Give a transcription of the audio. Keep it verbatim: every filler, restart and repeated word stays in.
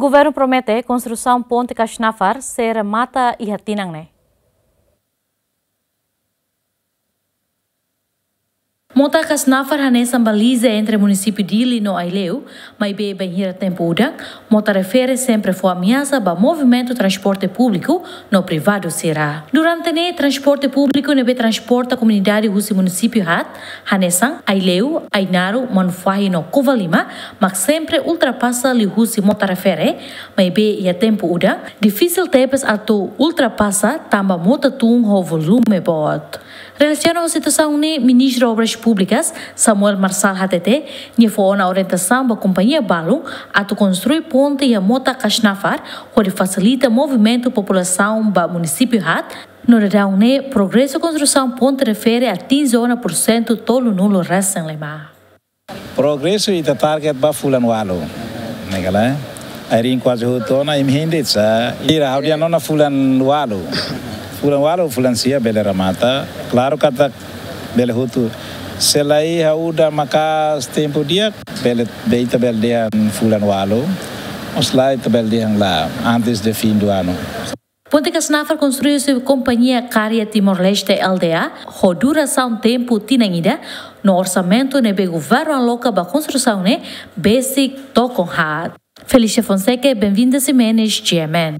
Governu promete konstrusaun ponte Kasnafar sei remata iha tinan ne'e. Mota Kasnafar hanesan baliza entre munisípiu Dili no Aileu, maibé bainhira tempu udan, mota refere sempre fó ameasa ba movimentu transporte públiku no privadu sira. Durante ne'e transporte públiku ne'ebé transporta komunidade husi munisípiu haat, hanesan Aileu, Ainaro, Manufahi no Covalima, mak sempre ultrapasa liuhusi mota refere, maibé iha tempu udan, difisil tebes atu ultrapasa tanba mota tun ho volume boot. Relasiona ho situasaun ne'e, Ministru Obras Públikas, Samuel Marçal hatete, nia fó ona orientasaun ba kompañia balun atu konstrui ponte iha mota Kasnafar, hodi fasilita movimentu populasaun ba munisípiu haat, no daudaun ne'e progresu konstrusaun ponte refere atinje ona pursentu tolunulu resin lima. Progresu ita target ba fulan ualu. Ne'e ka lae? Arin kuaze hotu ona, imi hein de'it sá. Ira, ha'u dehan ona fulan ualu. Fulan ualu, fulan sia bele remata. Klaru katak bele hotu. Se la iha udan maka'as tempu di'ak, bele, be ita bele dehan fulan ualu. Ou se lae ita bele dehan la, antes de fim do ano. Ponte Kasnafar konstrui husi kompañia Karya Timor-Leste, L T A, ho durasaun tempu tinan ida, no orsamentu ne'ebé governu aloka ba konstrusaun ne'e besik tokon haat. Felicia Fonseca, Benvinda Ximenes, G M N.